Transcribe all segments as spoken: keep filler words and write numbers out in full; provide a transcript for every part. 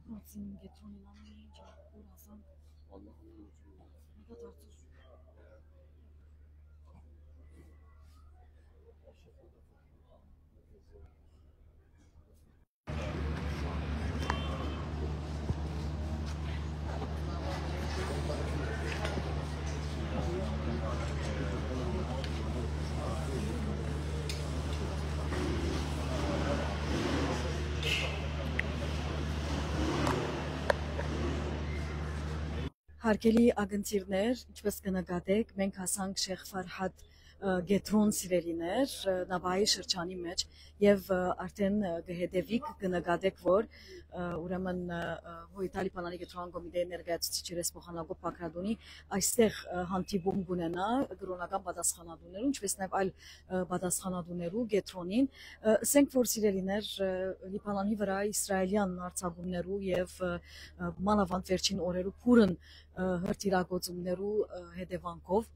Մացին կեդրոնին ամեն ինչ, ուր ասանք, մտա դարձուր։ Հարգելի ակնթիրներ, ինչպես կը նկատէք, մենք հասանք Շեյխ Ֆարհադ, ը, կեդրոն, սիրելիներ, ը, Նապահի շրջանի մէջ եւ, ը, արդեն, ը, կը հետեւիք, կը նկատէք, որ, ը, ուրեմն, ը, ը, Հոյտա Լիբանանի կեդրոնական կոմիտեի ներկայացուցիչ երեսփոխան Հակոբ Բագրատունի այստեղ, ը, հանդիպում կունենայ կրօնական պատասխանատուներուն, ինչպես նաեւ այլ, ը, պատասխանատուներու կեդրոնին։ Ը, ասենք որ, սիրելիներ, ը, Լիբանանի վրայ իսրայելեան յարձակումներու եւ, ը, ը, մանաւանդ վերջին օրերու բուռն, ը, հրթիռագործումներու, ը, հետեւանքով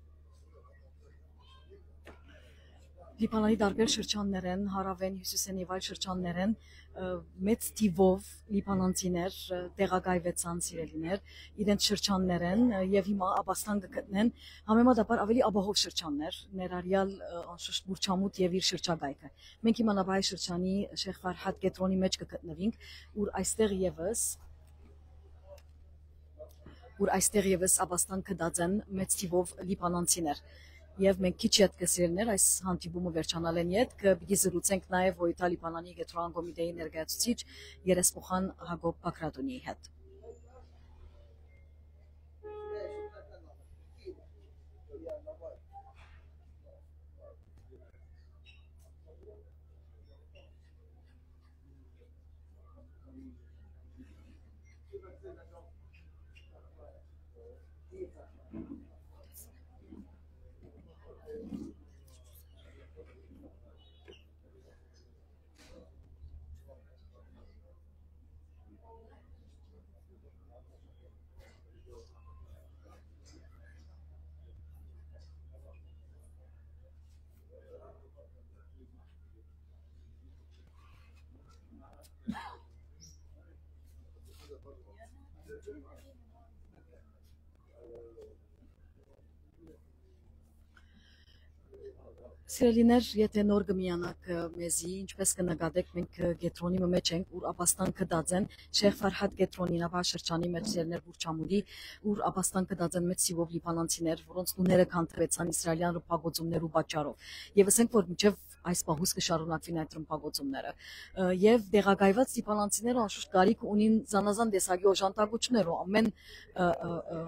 Լիբանանի տարբեր շրջաններէն, հարաւէն, հիւսիսէն եւ այլ շրջաններէն, ը, մեծ թիւով լիբանանցիներ, ը, տեղակայուեցան, սիրելիներ, իրենց շրջաններէն, ը, եւ հիմա ապաստան կը գտնեն համեմատաբար աւելի ապահով շրջաններ, ներառեալ, ը, անշուշտ Բուրչամուտ եւ իր շրջակայքը։ Մենք հիմա Նապահի շրջանի Շեյխ Ֆարհադ կեդրոնի մէջ կը գտնուինք, ուր այստեղ եւս, ուր այստեղ եւս ապաստան գտած են մեծ թիւով լիբանանցիներ։ Եւ մենք քիչ ետքը, սիրելիներ, այս հանդիպումը վերջանալէն ետք պիտի զրուցենք նաեւ Հոյտա Լիբանանի կեդրոնական կոմիտեի ներկայացուցիչ երեսփոխան Հակոբ Բագրատունիի հետ։ Սիրելիներ, եթէ նոր կը միանաք, ը, մեզի, ինչպես կը նկատէք, մենք, ը, կեդրոնի մը մէջ ենք, ուր ապաստան գտած են Շեյխ Ֆարհադ կեդրոնին, Նապահ շրջանի մէջ, սիրելիներ, Բուրչամուտի, ուր ապաստան գտած են մեծ թիւով լիբանանցիներ, որոնց տուները քանդուեցան իսրայելեան ռմբակոծումներու պատճառով։ Եվ ասենք որ մինչեւ այս պահուս կը շարունակուին այդ ռմբակոծումները։ Ը, եւ տեղակայված լիբանանցիները անշուշտ կարիք ունին զանազան տեսակի օժանդակություններու, ամեն, ը, ը, ը,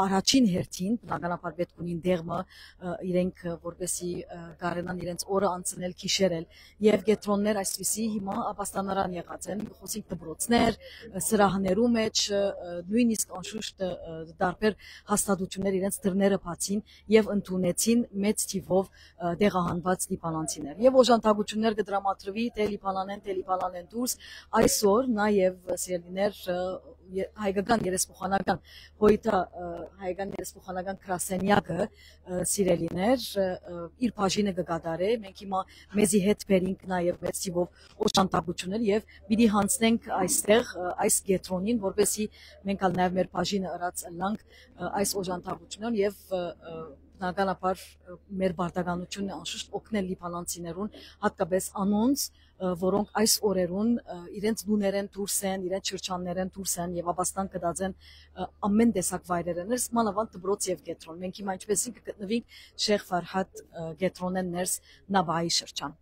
առաջին հերթին, բնականաբար, պէտք ունին տեղ մը, ը, իրենք, ը, որպեսզի, ը, կարենան իրենց օրը անցնել, գիշերել, եւ կեդրոններ այսպիսի հիմա ապաստանարան եղած են, խօսինք դպրոցներ, ը, սրահներու մէջ, ը, ը, նոյնիսկ անշուշտ, ը, ը, տարբեր հաստատություններ իրենց դռները բացին եւ ընդունեցին մեծ թիւով, ը, տեղահանուած լիբանանցիներ։ Եւ օժանդակություններ կը դրամատրուի թէ Լիբանանէն, թէ Լիբանանէն դուրս, այսօր նաեւ, սիրելիներ, ը, ե-, հայկական երեսփոխանական Հոյտա, ը, հայկական երեսփոխանական գրասենեակը, ը, սիրելիներ, ը, ը, իր բաժինը կը կատարէ։ Մենք հիմա մեզի հետ բերինք նաեւ մեծ թիւով օժանդակություններ եւ պիտի յանձնենք այստեղ, ը, այս կեդրոնին, որպեսզի մենք ալ նաեւ մեր բաժինը ըրած ըլլանք, ը, այս օժանդակություններուն եւ, ը, ը, բնականաբար, ը, մեր պարտականությունն է անշուշտ օգնել լիբանանցիներուն, հատկապես անոնց, ը, որոնք այս օրերուն, ը, իրենց տուներէն դուրս են, իրենց շրջաններէն դուրս են եւ ապաստան գտած են, ը, ամեն տեսակ վայրերէն ներս, մանաւանդ դպրոց եւ կեդրոն։ Մենք հիմա ինչպեսին կը գտնուինք Շեյխ Ֆարհադ, ը, կեդրոնէն ներս Նապահի շրջան։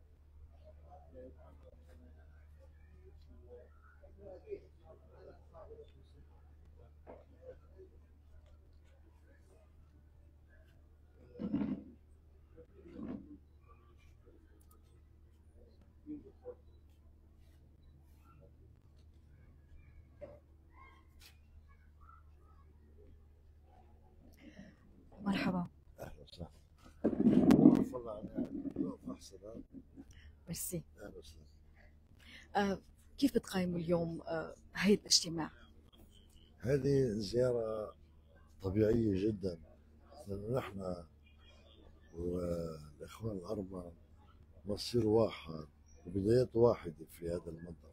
مرحبا. أهلا وسهلا. والله أنا بقف أحسن. ميرسي. أهلا وسهلا. آه، كيف بتقيموا اليوم، آه، هاي الاجتماع؟ هذه زيارة طبيعية جدًا، لأنه نحن والإخوان الأربعة مصير واحد وبدايات واحدة في هذا المنطقة.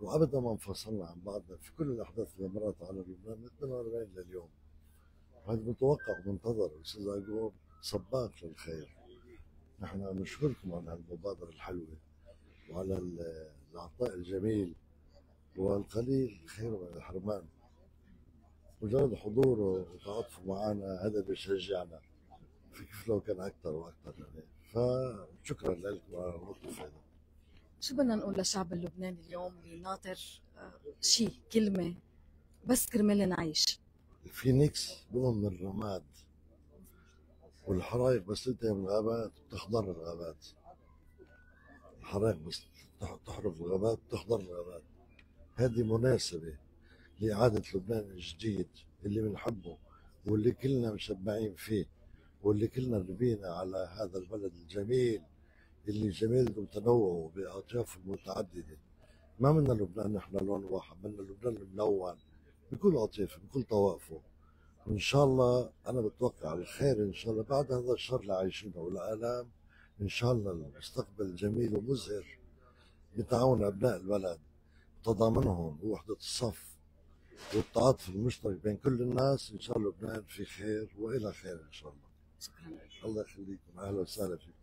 وأبدا ما انفصلنا عن بعضنا في كل الأحداث اللي مرت على لبنان من اثنين وأربعين لليوم. هذا متوقع ومنتظر، أستاذ يعقوب سباق للخير. نحن نشكركم على هالمبادرة الحلوة وعلى ال-، العطاء الجميل، والقليل خير من الحرمان. مجرد حضوره وتعاطفه معنا هذا بيشجعنا في كيف لو كان أكتر وأكتر يعني. فشكرا لكم على الموقف هذا. شو بدنا نقول للشعب اللبناني اليوم اللي ناطر، آه، شي، كلمة، بس كرمال نعيش؟ الفينيكس بيقوم من الرماد، والحرايق بس تنتهي من الغابات بتخضر الغابات. الحرايق بس تح-، تحرق الغابات، بتخضر الغابات. هذه مناسبة لإعادة لبنان الجديد اللي بنحبه، واللي كلنا مشبعين فيه، واللي كلنا ربينا على هذا البلد الجميل، اللي جميل ومتنوع وبأطيافه المتعددة. ما بدنا لبنان نحن لون واحد، بدنا لبنان الملون بكل أطيافه، بكل طوائفه. وإن شاء الله أنا بتوقع الخير إن شاء الله بعد هذا الشر اللي عايشينه والآلام. إن شاء الله المستقبل جميل ومزهر بتعاون أبناء البلد، تضامنهم ووحدة الصف والتعاطف المشترك بين كل الناس. إن شاء الله لبنان في خير وإلى خير إن شاء الله. شكرا. الله يخليكم، أهلا وسهلا فيكم.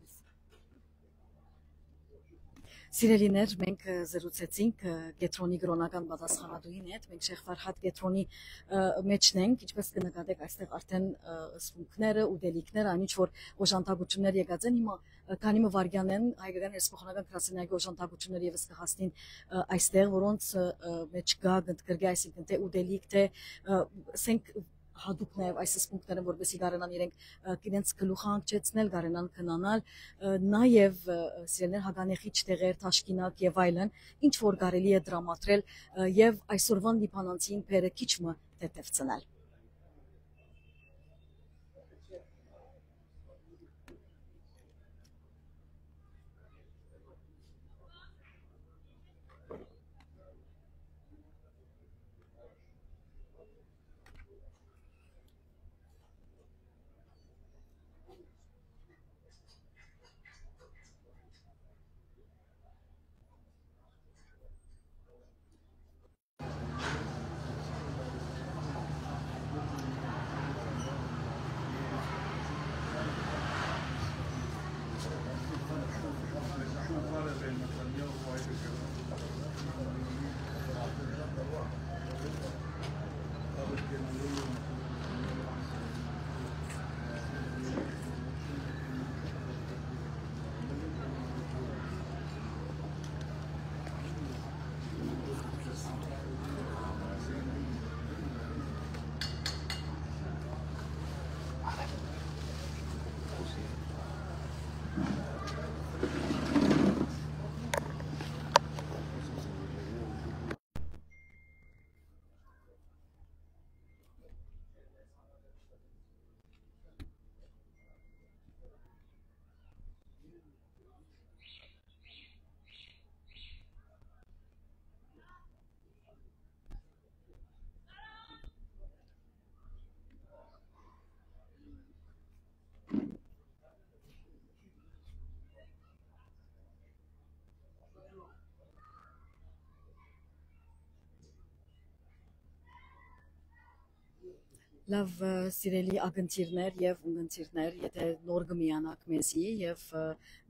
Սիրելիներ, մենք, ը, զրուցեցինք, ը, կեդրոնի կրօնական պատասխանատուին հետ։ Մենք Շեյխ Ֆարհադ կեդրոնի, ը, մեջն ենք, ինչպես կնկատեք, այստեղ արդեն, ը, սպունգները, ուտելիքները, այն ինչ որ օժանդակություններ եկած են, հիմա, ը, քանի մը վայրկյան են հայկական հերոսախորհրդական գրասենյակի օժանդակությունները ևս կհասնին, ը, այստեղ, որոնց, ը, ը, մեջ կա, կընդգրկի, այսինքն, թե ուտելիք, թե, ը, ասենք, յատուկ նաև այս սպունգները, որպեսզի կարենան իրենք, ը, իրենց գլուխը հանգչեցնել, կարենան քնանալ, ը, նաև, ը, սիրելիներ, հականեխիչ տեղեր, թաշկինակ և այլն, ինչ որ կարելի է տրամադրել, ը, և այսօրվան լիբանանցին բերը քիչ մը թեթևցնել։ Լաւ, ը, սիրելի ակնթիռներ եւ ունգընթիռներ, եթե նոր կը միանաք մեզի եւ, ը,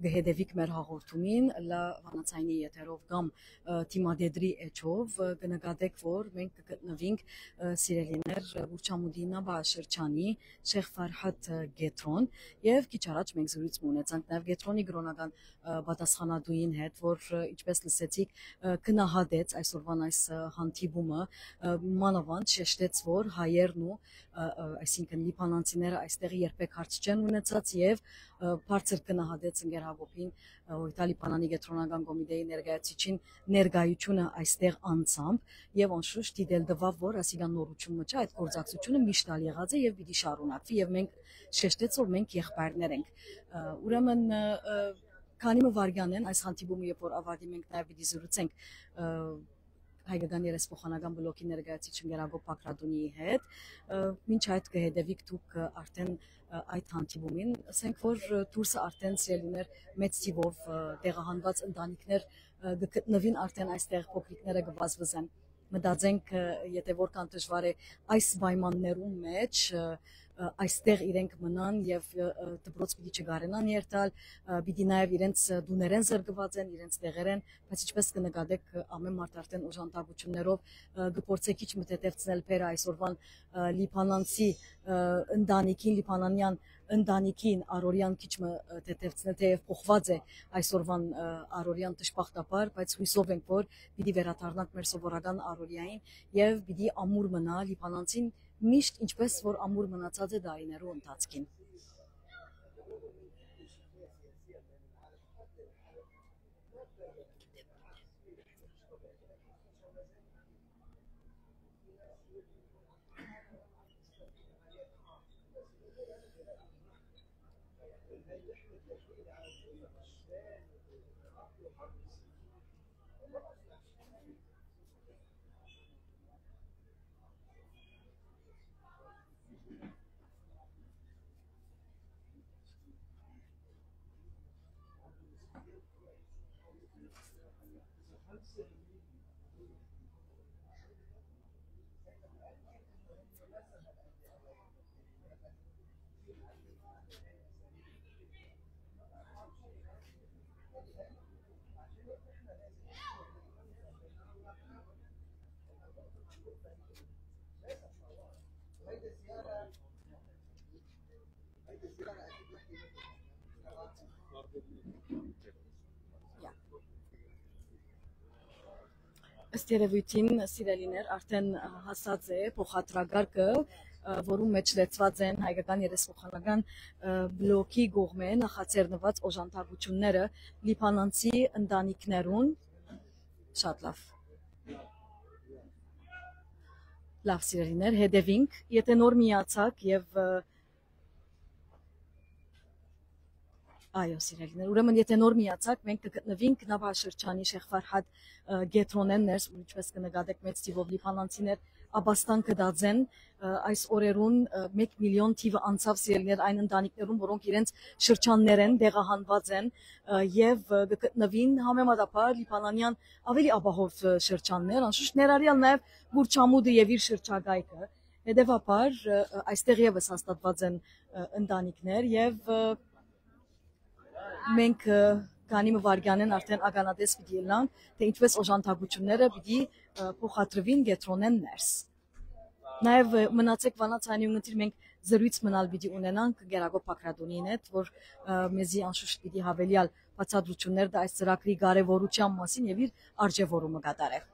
կը հետեւիք մեր հաղորդումին, լա վանացայնի եթերով կամ, ը, դիմադեդրի էջով, ը, կը նկատեք, որ մենք կը գտնուինք, ը, սիրելիներ, ը, Ուրչամուտի նավաշրջանի Շեյխ Ֆարհադ, ը, կեդրոն, եւ քիչ առաջ մենք զրույց մը ունեցանք նաեւ կեդրոնի կրօնական, ը, պատասխանատուին հետ, որ, ը, ինչպես լսեցիք, ը, գնահատեց այսօրվան այս, ը, հանդիպումը, ը, մանավանդ շեշտեց, որ հայերն ու, ը, ը, այսինքն լիբանանցիները այստեղ երբեք հարց չեն ունեցած եւ, ը, բարձր գնահատեց ընկեր Հակոբին, ը, Հովիտա Լիբանանի կեդրոնական կոմիտեի ներկայացուցիչին ներկայությունը այստեղ անձամբ եւ անշուշտ դիտել տուաւ, որ ասիկա նորություն մը չէ, այդ գործակցությունը միշտ ալ եղած է եւ պիտի շարունակվի եւ մենք շեշտեց, որ մենք եղբայրներ ենք։ Ը, ուրեմն, ը, ը, քանի մը վայրկյան են այս հանդիպումը, երբ որ ավարտի մենք նաեւ պիտի զրուցենք, ը, հայկական երեսփոխանական բլոկի ներկայացուցիչ Գերագոպ Բագրատունիի հետ։ Ը, մինչ այդ կը հետևիք դուք, ը, արդեն, ը, այդ հանդիպումին։ Ասենք որ, ը, դուրսը արդեն սիրելիներ մեծ թիվով, ը, տեղահանուած ընտանիքներ, ը, կը գտնուին արդեն այստեղ փոքրիկները կը վազվզեն։ Մտածենք, ը, եթե որքան դժուար է այս պայմաններուն մեջ, ը, ը, այստեղ իրենք մնան եւ, ը, ը, դպրոց պիտի չկարենան երթալ, ը, պիտի նաեւ իրենց, ը, տուներէն զրկուած են, իրենց տեղերէն, բայց ինչպես կը նկատեք, ը, ամէն մարդ արդեն օժանդակութիւններով, ը, կը փորձէ քիչ մը թեթեւցնել բերը այսօրուան, ը, լիբանանցի, ը, ընտանիքին, լիբանանեան ընտանիքին առօրեան քիչ մը, ը, թեթեւցնել, թէեւ փոխուած է այսօրուան, ը, առօրեան դժբախտաբար, բայց յուսով ենք, որ պիտի վերադառնանք մեր սովորական առօրեային եւ պիտի ամուր մնայ լիբանանցին միշտ, ինչպես որ ամուր մնացած է դարիներու ընթացքին։ Ըստ երեւոյթին, սիրելիներ, արդեն, ը, հասած է փոխադրակարգը, ը, որուն մեջ լեցուած են հայկական երեսփոխանական, ը, բլոկի կողմէ նախաձեռնուած օժանդակութիւնները լիբանանցի ընտանիքներուն։ Շատ լավ։ Լավ, սիրելիներ, հետևինք, եթե նոր միացաք եւ, ը, այո, սիրելիներ, ուրեմն եթե նոր միացաք, մենք կը գտնուինք Նավա շրջանի Շեխ Ֆարհադ, ը, կեդրոնէն ներս, ու ինչպես կը նկատեք, մեծ թիվով լիբանանցիներ աբաստան կը տածեն, ը, այս օրերուն, ը, մեկ միլիոն թիվը անցաւ, սիրելիներ, այն ընտանիքներուն, որոնք իրենց շրջաններէն տեղահանուած են, ը, եւ, ը, կը գտնուին համեմատաբար լիբանանեան ավելի ապահով, ը, շրջաններ, անշուշտ ներառյալ նաեւ Բուրչամուտը եւ իր շրջակայքը։ Հետեւաբար, ը, ը, այստեղ եւս հաստատուած են, ը, ընտանիքներ եւ, ը, մենք, ը, քանի մը վայրկյանէն արդեն ականատես պիտի ըլլանք, թէ ինչպես օժանդակութիւնները պիտի, ը, փոխադրուին կեդրոնէն ներս։ Նաեւ, ը, մնացեք Վանաց, այն ունգընտիր մենք զրոյց մնալ պիտի ունենանք Գերագոպ Բագրատունին հետ, որ, ը, մեզի անշուշտ պիտի հավելեալ բացատրութիւններ տայ այս ծրագրի կարեւորութեան մասին եւ իր արժեւորումը կատարել։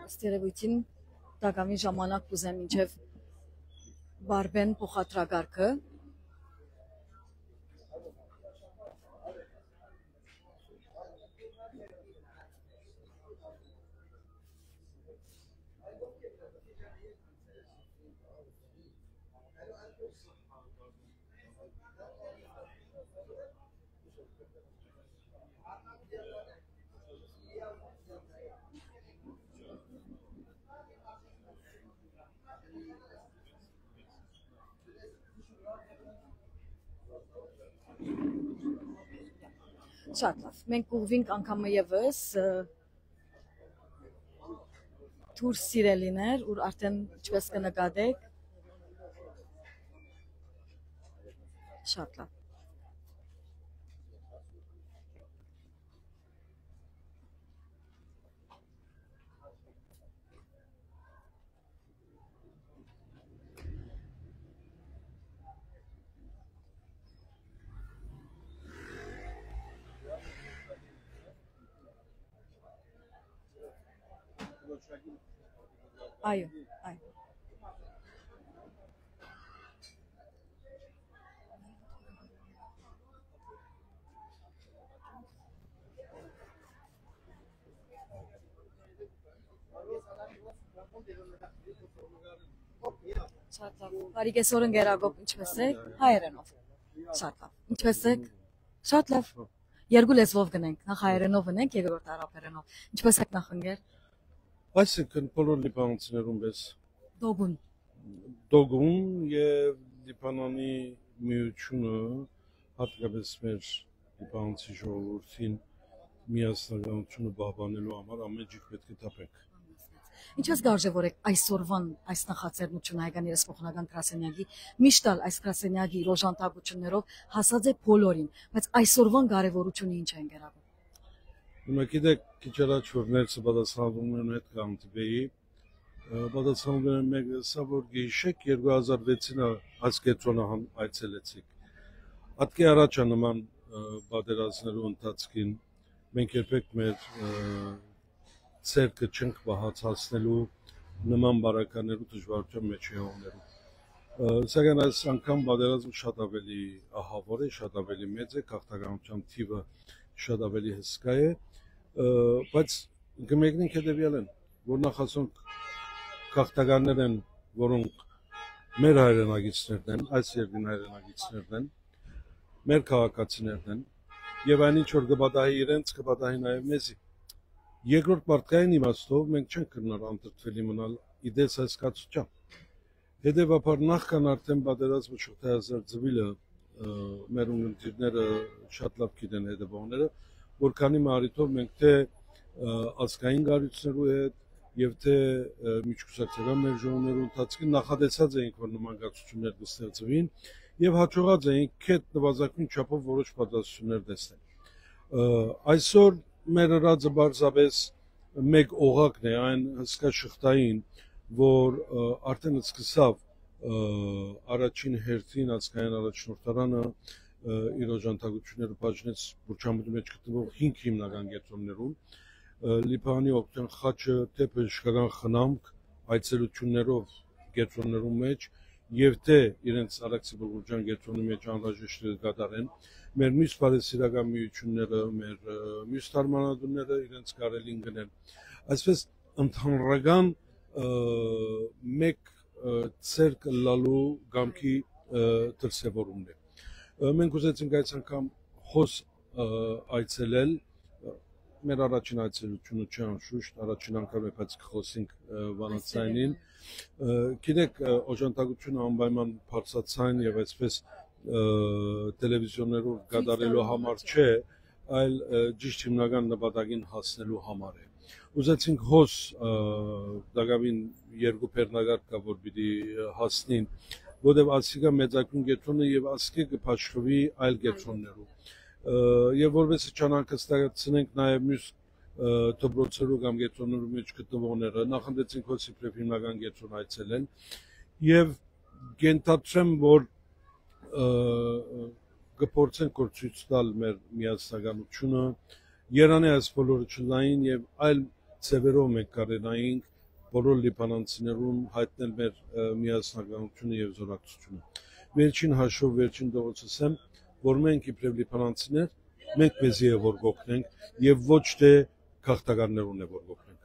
Ըստ երևույթին տակամին ժամանակ կուզեմ մինչև վարվեն փոխադրակարգը։ Շատ լավ։ Մենք կուղղվենք անգամ ևս, ը, դուրս, սիրելիներ, ուր արդեն, ինչպես կը նկատեք, շատ լավ։ Այո, այո։ Շատ լավ։ Բարի կեսօր, ընկեր Ակոբ, ինչպե՞ս եք։ Հայերենով։ Շատ լավ։ Ինչպե՞ս եք։ Շատ լավ։ Երկու լեզուով գնենք, նախ հայերենով գնենք, երկրորդ արաբերենով։ Ինչպե՞ս եք, նախ ընկեր։ Այսինքն, բոլոր լիբանանցիներուն պես Դոգուն։ Դոգուն եւ Լիբանանի միությունը, հատկապես մեր լիբանանցի ժողովրդին միասնականությունը պահպանելու համար ամէն ջիք պէտք է թափենք։ Ինչպես կարժե որ եք այսօրվան այս նախաձեռնությունը հայկական երեսփոխանական գրասենյակի, միշտ ալ այս գրասենյակի իր օժանդակություններով հասած է բոլորին, բայց այսօրվան կարևորությունը ինչ է, ընկեր Ակոբ։ Հիմա գիտեք, քիչ առաջ որ ներսը պատասխանատուներուն հետ կհանդիպեի, ը, պատասխանատուներէն մէկը ըսաւ, որ գիշեք երկու հազար վեցին ա այս կեդրոնը հան այցելեցիք։ Ատկէ առաջ ա նման, ը, պատերազմներու ընթացքին մենք երբեք մեր, ը, ձեռքը չենք պահած հասնելու նման բարականերու դժվարութեան մեջ եղողներու։ Ը, սակայն այս անգամ պատերազմը շատ ավելի ահաւոր է, շատ ավելի մեծ է, գաղթականութեան թիւը շատ ավելի հսկայ է, ը, բայց կը մեկնենք հետեւեալէն, որ նախ ասոնք գաղթականներ են, որոնք մեր հայրենակիցներն են, այս երկրին հայրենակիցներն են, մեր քաղաքացիներն են, եւ այն ինչ որ կը պատահի իրենց, կը պատահի նաեւ մեզի։ Երկրորդ մարդկային իմաստով մենք չենք կրնար անդրդվել իմանալ ի տես այս կացութեան։ Հետեւաբար, նախքան արդեն պատերազմը շղթայազարդուիլը, ը, մեր ունգընտիրները շատ լավ գիտեն, հետեւողները, որ քանի մը առիթով մենք թէ, ը, ազգային կառույցներու հետ եւ թէ, ը, միջկուսակցական մեր ժողովներու ընթացքին նախատեսած էինք, որ նման կացութիւններ կը ստեղծուին, եւ յաջողած էինք քեթ նուազագոյն չափով որոշ պատրաստություններ տեսնել։ Ը, այսօր մեր ըրածը պարզապէս մէկ օղակն է այն հսկայ շղթային, որ, ը, արդեն սկսաւ, ը, առաջին հերթին ազգային առաջնորդարանը, ը, իր օժանդակությունները բաժնեց Բուրչամուտի մեջ գտնվող հինգ հիմնական կեդրոններուն, ը, Լիբանանի օգնության խաչը, թէ բժշկական խնամք, այցելություններով կեդրոններուն մեջ, եւ թէ իրենց Արաքսի Բուլղուրջեան կեդրոնի մեջ անհրաժեշտը կը կատարեն, մեր միւս բարեսիրական միութիւնները, մեր, ը, միւս դարմանատունները իրենց կարելին գնեն։ Այսպէս, ընդհանրական, ը, մէկ, ը, ձեռք ըլլալու կամքի, ը, դրսեւորումն է։ Ը, մենք ուզեցինք այս անգամ հոս, ը, այցելել, ը, մեր առաջին այցելությունը չէ անշուշտ, առաջին անգամ է, բայց կխոսենք, ը, վանաձայնին։ Ը, գիտեք, ը, օժանդակությունը անպայման բարձրաձայն եւ այսպես, ը, տելևիզիոներով կատարելու համար չէ, այլ, ը, ճիշտ հիմնական նպատակին հասնելու համար է։ Ուզեցինք հոս, ը, տակաւին երկու բեռնակարգ կայ, որ պիտի, ը, հասնին, որտեւ ասիկա մեծագոյն կեդրոնը եւ ասկէ կը բաշխուի այլ կեդրոններու։ Ը, եւ որպեսզի չանհանգստացնենք նաեւ միւս, ը, դպրոցերու կամ կեդրոններու մեջ գտնուողները, նախընտրեցինք հոս իբրեւ հիմնական կեդրոն այցելել եւ կ'ենթադրեմ, որ, ը, կը փորձենք որ ցոյց տալ մեր միասնականությունը, երանի այս բոլորը չլային եւ այլ ձեւերով մենք կարենայինք բոլոր լիբանանցիներուն հայտնել մեր, ը, միասնականությունը եւ զորակցությունը։ Վերջին հաշվով, վերջին դողոց ասեմ, որ մենք իբրեւ լիբանանցիներ, մենք մեզի է որ կօգնենք եւ ոչ թէ գաղթականներուն է որ կօգնենք։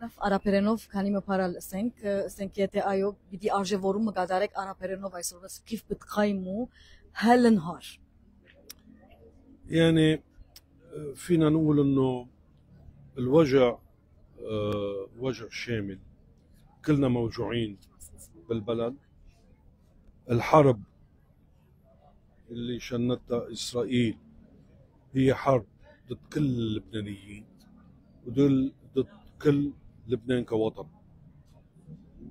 Լավ, արաբերենով քանի մը բառ ալ ասենք, ը, ասենք, եթե այո, պիտի արժեվորումը կատարեք արաբերենով այսօրվա Kif bitqaymu helen har. يعني، فينا نقول إنه الوجع، آه، وجع شامل. كلنا موجوعين بالبلد. الحرب اللي شنتها إسرائيل هي حرب ضد كل اللبنانيين، وضد، ضد كل لبنان كوطن.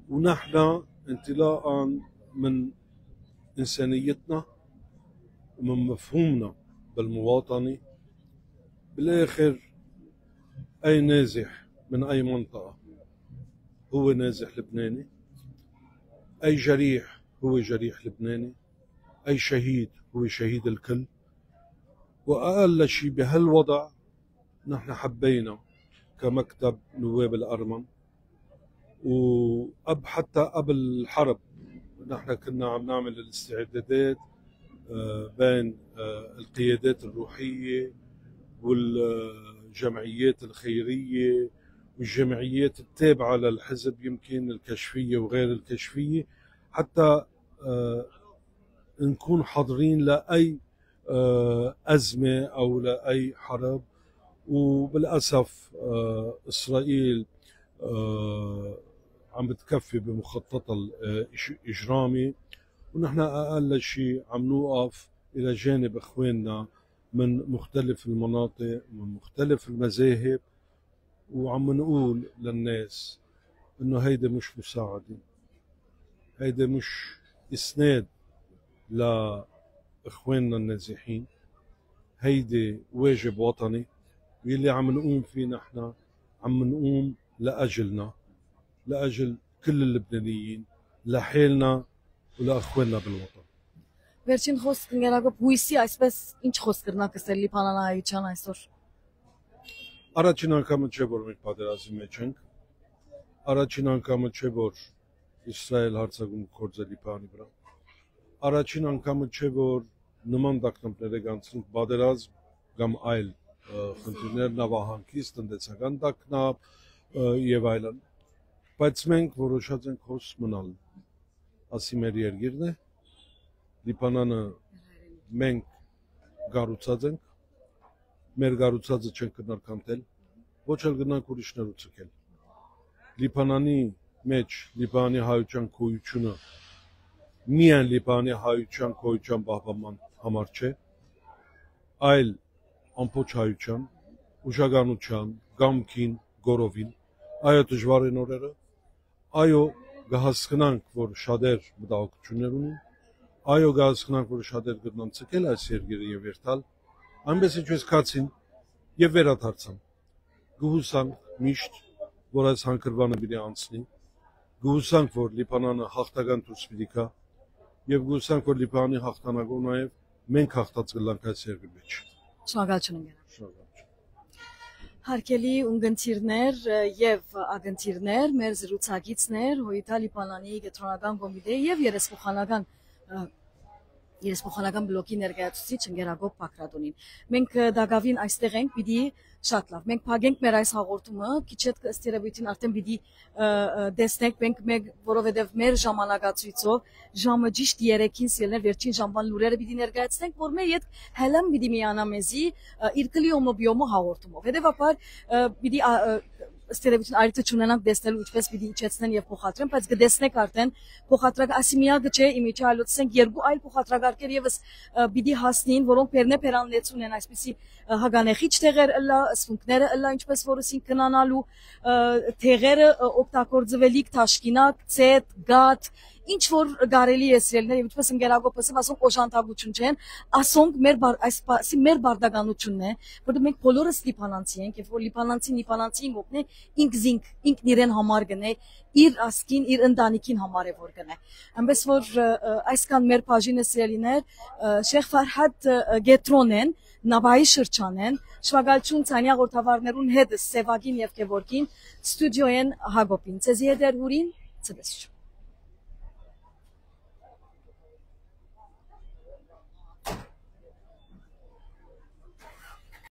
ونحن انطلاقا من إنسانيتنا ومن مفهومنا بالمواطنة، بالآخر أي نازح من أي منطقة هو نازح لبناني، أي جريح هو جريح لبناني، أي شهيد هو شهيد الكل. وأقل شي بهالوضع نحن حبينا كمكتب نواب الأرمن وقبل، حتى قبل الحرب نحن كنا عم نعمل الاستعدادات، آه، بين، آه، القيادات الروحية والجمعيات الخيرية والجمعيات التابعة للحزب، يمكن الكشفية وغير الكشفية، حتى، آه، نكون حاضرين لأي، آه، أزمة أو لأي حرب. وبالأسف، آه، إسرائيل، آه، عم بتكفي بمخططها ال-، آه، إج-، إجرامي، ونحن أقل شي عم نوقف إلى جانب إخواننا من مختلف المناطق، من مختلف المذاهب، وعم نقول للناس إنه هيدي مش مساعدة، هيدي مش إسناد لإخواننا النازحين، هيدي واجب وطني، ويلي عم نقوم فيه نحن، عم نقوم لأجلنا، لأجل كل اللبنانيين، لحالنا ولإخواننا بالوطن. Վերջին խոսք, Նկերակոպ, հույսի, այսպես, ինչ խոսք կրնաք ասել լիբանանահայության այսօր։ Առաջին անգամը չէ, որ մենք պատերազմի մեջ ենք։ Առաջին անգամը չէ, որ Իսրայել հարձակում գործ է Լիբանանի վրա։ Առաջին անգամը չէ, որ նման տագնապները կանցնեն, պատերազմ կամ այլ, ը, խնդիրներ, նավահանգիստ, տնտեսական տագնապ, ը, և այլն։ Բայց մենք որոշած ենք հոս մնալ։ Ասի մեր երկիրն է, Լիբանանը մենք կառուցած ենք, մեր կառուցածը չենք կրնար քանդել, ոչ էլ կրնանք ուրիշներու ձգել։ Լիբանանի մեջ Լիբանանի հայության գոյությունը միայն Լիբանանի հայության գոյության պահպանման համար չէ, այլ ամբողջ հայության, ուժականության, կամքին, կորովին։ Այո, դժուար են օրերը, այո, կհասկնանք, որ շատեր մտահոգություններ ունին, այո, կհասկնանք, որ շատեր կրնան ձգել այս երկիրը և երթալ, այնպես ինչպես գացին և վերադարձան։ Կհուսանք միշտ, որ այս հանգրուանը պիտի անցնի, կհուսանք, որ Լիբանանը հաղթական դուրս պիտի գա, և կհուսանք, որ Լիբանանի հաղթանակով նաև մենք հաղթած կլանք այս երկրի մեջ։ Շնորհակալություն, Նկերակոպ։ Շնորհակալություն։ Հարգելի ունգընտիրներ, ը, և ակնթիրներ, մեր զրուցակիցներ, Հոյիթա Լիբանանի կեդրոնական կոմիտեի և երեսփոխանական, ը, երեսփոխանական բլոկի ներկայացուցիչ Նկերակոպ Բագրատունին։ Մենք, ը, տակաւին այստեղ ենք, պիտի շատ լավ։ Մենք փակենք մեր այս հաղորդումը, քիչ հետ ըստ երևույթին արդեն պիտի, ը, ը, տեսնենք, մենք, մենք, որովհետև մեր ժամանակացույցով ժամը ճիշտ երեքին սիրելներ վերջին ժամվան լուրերը պիտի ներկայացնենք, որ մեր յետ Հելեն պիտի միանա մեզի, ը, իր Կլիոմը Բիոմը հաղորդումով։ Հետևաբար, ը, պիտի, ա, ը, ըստ երևույթին արիթը չունենանք տեսնելու ինչպես պիտի իջեցնեն և փոխադրեն, բայց կտեսնեք արդեն փոխադրակ ասի միակը չէ, իմիջը այլ, ասենք, երկու այլ փոխադրակարգեր ևս, ը, պիտի հասնին, որոնք բերնե բերանլեցուն են այսպիսի, ը, հագանեխիչ տեղեր ըլլա, սփունքները ըլլա, ինչպես որ ասին, քնանալու, ը, տեղերը, ը, օգտագործվելիք, թաշկինակ, ծետ, գաթ, ինչ որ կարելի է սիրելիներ, և ինչպես Նկերակոպ ասեմ, ասոնք օժանդակություն չեն, ասոնք մեր բար-, այս պասի մեր բարդականությունն է, որտեղ մենք բոլորս լիբանանցի ենք, և որ լիբանանցին լիբանանցիին կօգնե, ինք զինք, ինքն իրեն համար գնե, իր ազգին, իր ընտանիքին համար է որ գնե։ Այնպես որ, ը, ը, այսքան մեր բաժինը, սիրելիներ, ը, Շեյխ Ֆարհադ, ը, ը, կեդրոնեն, Նավայի շրջանեն, շնորհակալություն ցանի հաղորդավարներուն հետ, Սևակին և Գևորգին, ստուդիոյեն Հակոբին։ Ձեզի հետ էր Հուրին, ցտեսություն։